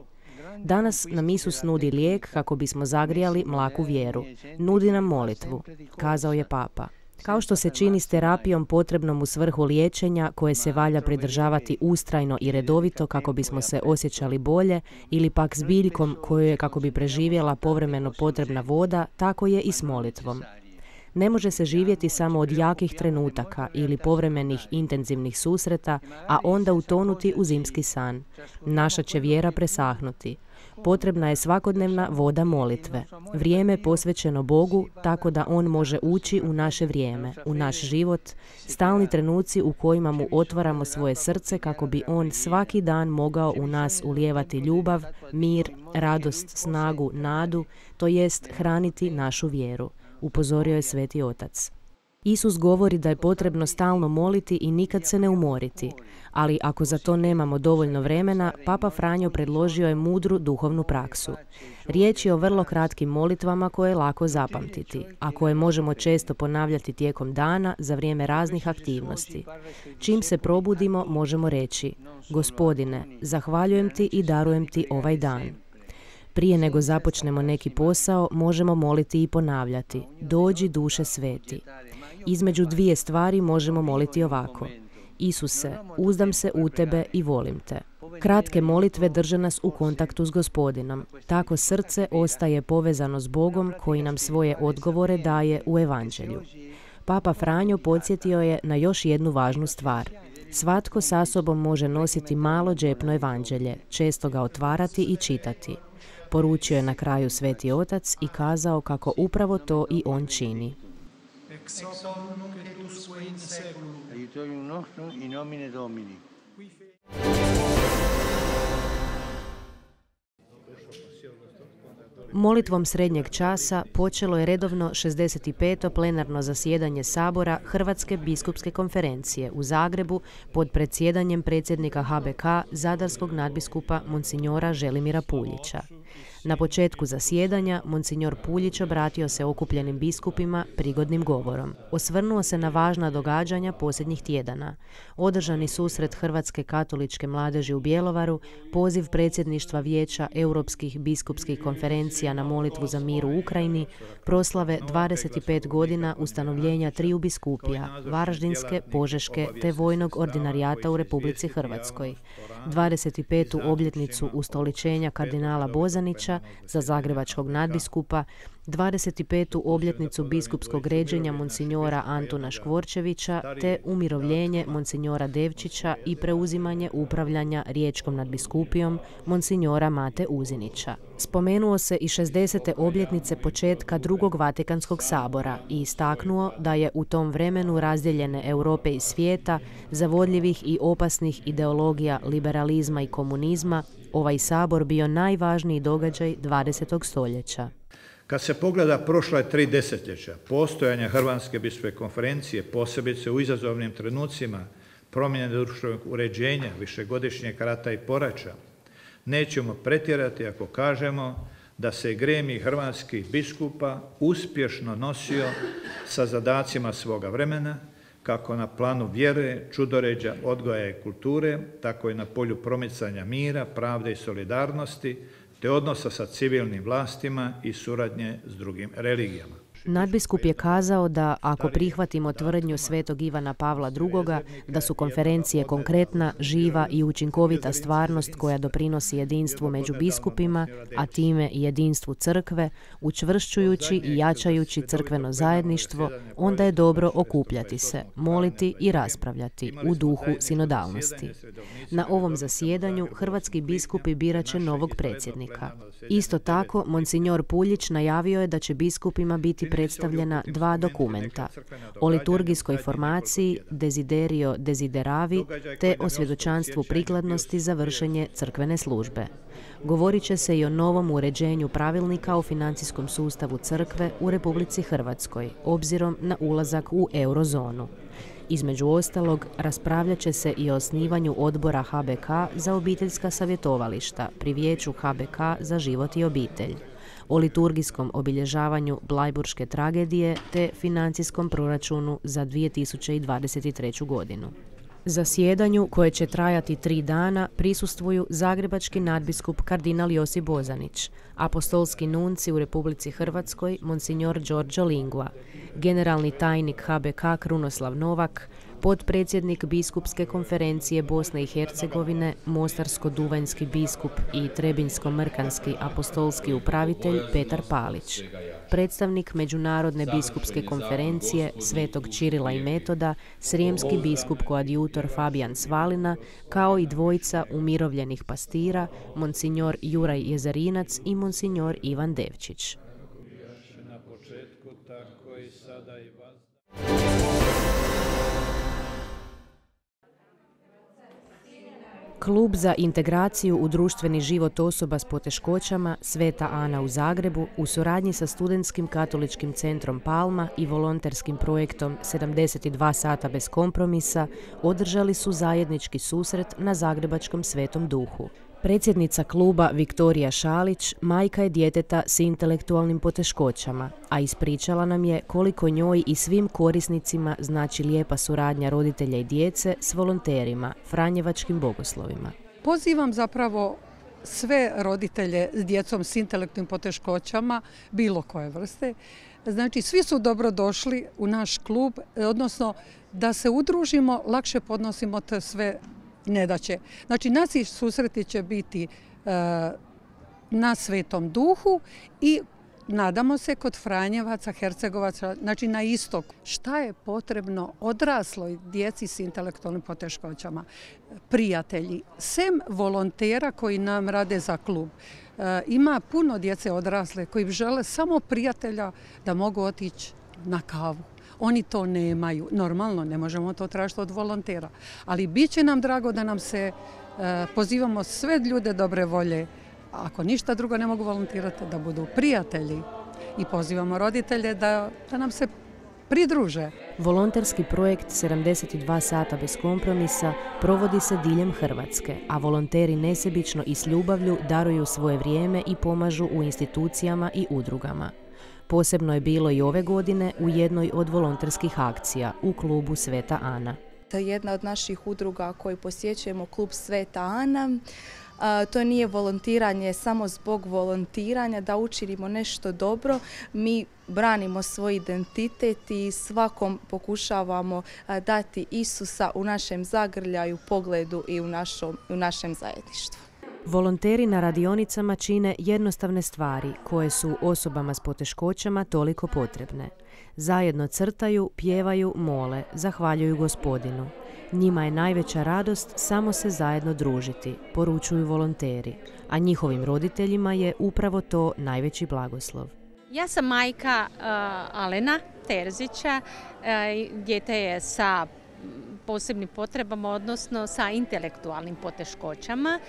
Danas nam Isus nudi lijek kako bismo zagrijali mlaku vjeru. Nudi nam molitvu, kazao je Papa. Kao što se čini s terapijom potrebnom u svrhu liječenja koje se valja pridržavati ustrajno i redovito kako bismo se osjećali bolje, ili pak s biljkom koju je kako bi preživjela povremeno potrebna voda, tako je i s molitvom. Ne može se živjeti samo od jakih trenutaka ili povremenih intenzivnih susreta, a onda utonuti u zimski san. Naša će vjera presahnuti. Potrebna je svakodnevna voda molitve. Vrijeme posvećeno Bogu tako da On može ući u naše vrijeme, u naš život, stalni trenuci u kojima mu otvaramo svoje srce kako bi On svaki dan mogao u nas ulijevati ljubav, mir, radost, snagu, nadu, to jest hraniti našu vjeru, upozorio je Sveti Otac. Isus govori da je potrebno stalno moliti i nikad se ne umoriti, ali ako za to nemamo dovoljno vremena, Papa Franjo predložio je mudru duhovnu praksu. Riječ je o vrlo kratkim molitvama koje je lako zapamtiti, a koje možemo često ponavljati tijekom dana za vrijeme raznih aktivnosti. Čim se probudimo, možemo reći: Gospodine, zahvaljujem ti i darujem ti ovaj dan. Prije nego započnemo neki posao, možemo moliti i ponavljati: Dođi duše sveti. Između dvije stvari možemo moliti ovako: Isuse, uzdam se u tebe i volim te. Kratke molitve drže nas u kontaktu s Gospodinom. Tako srce ostaje povezano s Bogom koji nam svoje odgovore daje u Evanđelju. Papa Franjo podsjetio je na još jednu važnu stvar. Svatko sa sobom može nositi malo džepno evanđelje, često ga otvarati i čitati. Poručio je na kraju Sveti Otac i kazao kako upravo to i on čini. Molitvom srednjeg časa počelo je redovno šezdeset peto plenarno zasjedanje Sabora Hrvatske biskupske konferencije u Zagrebu pod predsjedanjem predsjednika H B K zadarskog nadbiskupa monsinjora Želimira Puljića. Na početku zasjedanja monsinjor Puljić obratio se okupljenim biskupima prigodnim govorom. Osvrnuo se na važna događanja posljednjih tjedana. Održani susret Hrvatske katoličke mladeži u Bjelovaru, poziv predsjedništva Vijeća Europskih biskupskih konferencija na molitvu za mir u Ukrajini, proslave dvadeset pet godina ustanovljenja triju biskupija, Varaždinske, Požeške te vojnog ordinarijata u Republici Hrvatskoj, dvadeset petu obljetnicu ustoličenja kardinala Bozanića za zagrebačkog nadbiskupa, dvadeset petu obljetnicu biskupskog ređenja monsinjora Antuna Škvorčevića te umirovljenje monsinjora Devčića i preuzimanje upravljanja riječkom nadbiskupijom monsinjora Mate Uzinića. Spomenuo se i šezdesete obljetnice početka drugog Vatikanskog sabora i istaknuo da je u tom vremenu razdijeljene Europe i svijeta, zavodljivih i opasnih ideologija liberalizma i komunizma, ovaj sabor bio najvažniji događaj dvadesetog stoljeća. Kad se pogleda prošla je tri desetljeća postojanja Hrvatske biskupske konferencije, posebice u izazovnim trenucima promjene društvenog uređenja, višegodišnjeg rata i poraća, nećemo pretjerati ako kažemo da se gremij hrvatskih biskupa uspješno nosio sa zadacima svoga vremena, kako na planu vjere, čudoređa, odgoja i kulture, tako i na polju promicanja mira, pravde i solidarnosti, te odnosa sa civilnim vlastima i suradnje s drugim religijama. Nadbiskup je kazao da ako prihvatimo tvrdnju svetog Ivana Pavla drugoga da su konferencije konkretna, živa i učinkovita stvarnost koja doprinosi jedinstvu među biskupima, a time i jedinstvu crkve, učvršćujući i jačajući crkveno zajedništvo, onda je dobro okupljati se, moliti i raspravljati u duhu sinodalnosti. Na ovom zasjedanju hrvatski biskupi birat će novog predsjednika. Isto tako, monsinjor Puljić najavio je da će biskupima biti predstavljena dva dokumenta o liturgijskoj formaciji Desiderio Desideravi te o svjedočanstvu prikladnosti za vršenje crkvene službe. Govorit će se i o novom uređenju pravilnika o financijskom sustavu crkve u Republici Hrvatskoj, obzirom na ulazak u eurozonu. Između ostalog, raspravljat će se i o osnivanju odbora H B K za obiteljska savjetovališta pri Vijeću H B K za život i obitelj, o liturgijskom obilježavanju Blajburške tragedije te financijskom proračunu za dvije tisuće dvadeset treću. godinu. Zasjedanju, koje će trajati tri dana, prisustvuju zagrebački nadbiskup kardinal Josip Bozanić, apostolski nunci u Republici Hrvatskoj monsinjor Đorđo Lingua, generalni tajnik H B K Krunoslav Novak, potpredsjednik biskupske konferencije Bosne i Hercegovine, mostarsko-duvanjski biskup i trebinjsko-mrkanski apostolski upravitelj Petar Palić, predstavnik Međunarodne biskupske konferencije Svetog Čirila i Metoda, srijemski biskup koadjutor Fabijan Svalina, kao i dvojica umirovljenih pastira, monsinjor Juraj Jezarinac i monsinjor Ivan Devčić. Klub za integraciju u društveni život osoba s poteškoćama Sveta Ana u Zagrebu u suradnji sa Studentskim katoličkim centrom Palma i volonterskim projektom sedamdeset dva sata bez kompromisa održali su zajednički susret na zagrebačkom Svetom Duhu. Predsjednica kluba Viktorija Šalić majka je djeteta s intelektualnim poteškoćama, a ispričala nam je koliko njoj i svim korisnicima znači lijepa suradnja roditelja i djece s volonterima, franjevačkim bogoslovima. Pozivam zapravo sve roditelje s djecom s intelektualnim poteškoćama, bilo koje vrste. Znači, svi su dobro došli u naš klub, odnosno da se udružimo, lakše podnosimo te sve nedaće. Znači, naši susreti će biti e, na Svetom Duhu i nadamo se kod Franjevaca, Hercegovaca, znači na istok. Šta je potrebno odrasloj djeci s intelektualnim poteškoćama? Prijatelji, sem volontera koji nam rade za klub, ima puno djece odrasle koji žele samo prijatelja da mogu otići na kavu. Oni to nemaju. Normalno, ne možemo to tražiti od volontera. Ali bit će nam drago da nam se pozivamo sve ljude dobre volje. Ako ništa drugo ne mogu volontirati, da budu prijatelji. I pozivamo roditelje da, da nam se pridruže. Volonterski projekt sedamdeset dva sata bez kompromisa provodi se diljem Hrvatske, a volonteri nesebično i s ljubavlju daruju svoje vrijeme i pomažu u institucijama i udrugama. Posebno je bilo i ove godine u jednoj od volonterskih akcija u klubu Sveta Ana. To je jedna od naših udruga koju posjećujemo, klub Sveta Ana. To nije volontiranje samo zbog volontiranja, da učinimo nešto dobro. Mi branimo svoj identitet i svakom pokušavamo dati Isusa u našem zagrljaju, pogledu i u, našom, u našem zajedništvu. Volonteri na radionicama čine jednostavne stvari koje su osobama s poteškoćama toliko potrebne. Zajedno crtaju, pjevaju, mole, zahvaljuju Gospodinu. Njima je najveća radost samo se zajedno družiti, poručuju volonteri, a njihovim roditeljima je upravo to najveći blagoslov. Ja sam majka uh, Alena Terzića, uh, dijete je sa posebnim potrebama, odnosno sa intelektualnim poteškoćama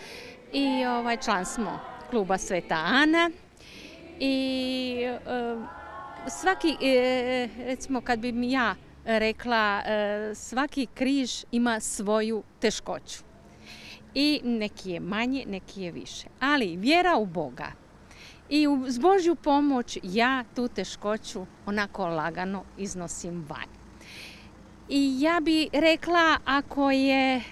i ovaj, član smo kluba Sveta Ana i uh, svaki, e, recimo kad bi mi ja rekla, e, svaki križ ima svoju teškoću i neki je manje, neki je više, ali vjera u Boga i uz Božju pomoć ja tu teškoću onako lagano iznosim van. I ja bi rekla, ako je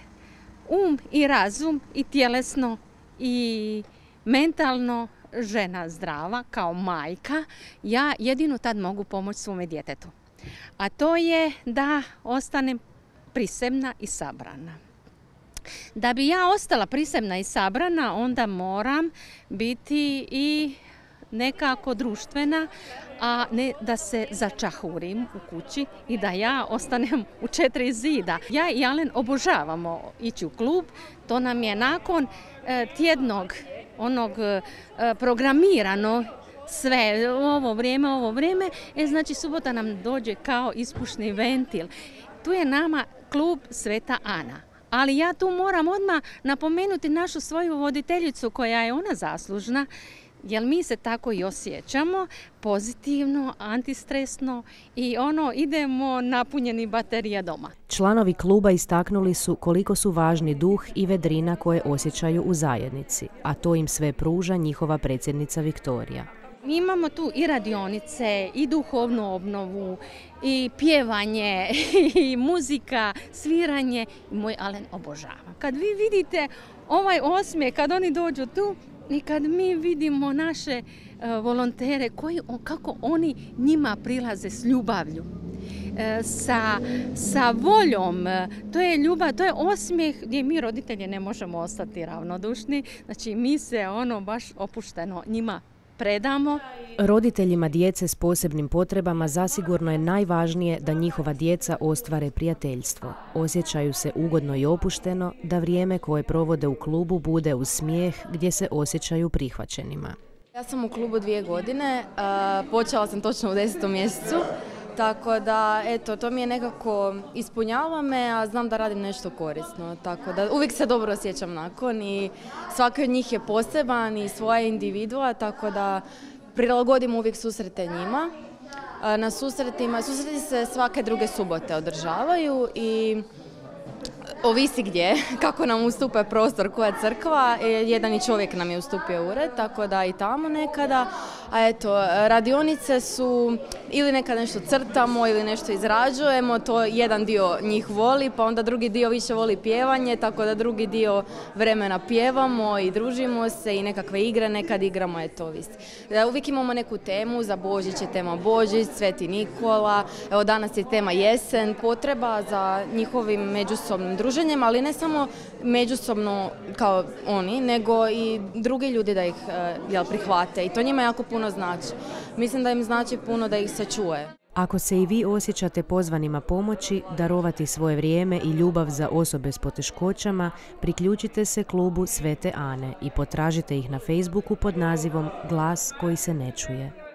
um i razum i tjelesno i mentalno žena zdrava kao majka, ja jedino tad mogu pomoći svome djetetu. A to je da ostanem prisebna i sabrana. Da bi ja ostala prisebna i sabrana, onda moram biti i nekako društvena, a ne da se začahurim u kući i da ja ostanem u četiri zida. Ja i Alen obožavamo ići u klub, to nam je nakon e, tjednog onog e, programirano sve, ovo vrijeme, ovo vrijeme, e, znači subota nam dođe kao ispušni ventil. Tu je nama klub Sveta Ana. Ali ja tu moram odmah napomenuti našu svoju voditeljicu koja je ona zaslužna, jer mi se tako i osjećamo, pozitivno, antistresno i ono idemo napunjeni baterija doma. Članovi kluba istaknuli su koliko su važni duh i vedrina koje osjećaju u zajednici, a to im sve pruža njihova predsjednica Viktorija. Mi imamo tu i radionice, i duhovnu obnovu, i pjevanje, i muzika, sviranje. Moj Alen obožava. Kad vi vidite ovaj osmijeh, kad oni dođu tu i kad mi vidimo naše uh, volontere, koji, kako oni njima prilaze s ljubavlju, uh, sa, sa voljom, uh, to je ljubav, to je osmijeh gdje mi roditelji ne možemo ostati ravnodušni. Znači mi se ono baš opušteno njima predamo. Roditeljima djece s posebnim potrebama zasigurno je najvažnije da njihova djeca ostvare prijateljstvo. Osjećaju se ugodno i opušteno, da vrijeme koje provode u klubu bude uz smijeh gdje se osjećaju prihvaćenima. Ja sam u klubu dvije godine, počela sam točno u desetom mjesecu, tako da eto, to mi je nekako ispunjava me, a znam da radim nešto korisno, tako da uvijek se dobro osjećam nakon i svaki od njih je poseban i svoja individua, tako da prilagodim uvijek susrete njima. Na susretima, susreti se svake druge subote održavaju i ovisi gdje, kako nam ustupe prostor, koja crkva, jedan i čovjek nam je ustupio ured, tako da i tamo nekada. A eto, radionice su ili nekad nešto crtamo ili nešto izrađujemo, to jedan dio njih voli, pa onda drugi dio više voli pjevanje, tako da drugi dio vremena pjevamo i družimo se i nekakve igre nekad igramo, eto ovisi. Uvijek imamo neku temu, za Božić je tema Božić, Sveti Nikola, evo danas je tema jesen, potreba za njihovim međusobnim društvom, druženjem, ali ne samo međusobno kao oni, nego i drugi ljudi da ih jel, prihvate i to njima jako puno znači. Mislim da im znači puno da ih se čuje. Ako se i vi osjećate pozvanima pomoći, darovati svoje vrijeme i ljubav za osobe s poteškoćama, priključite se klubu Svete Ane i potražite ih na Facebooku pod nazivom Glas koji se ne čuje.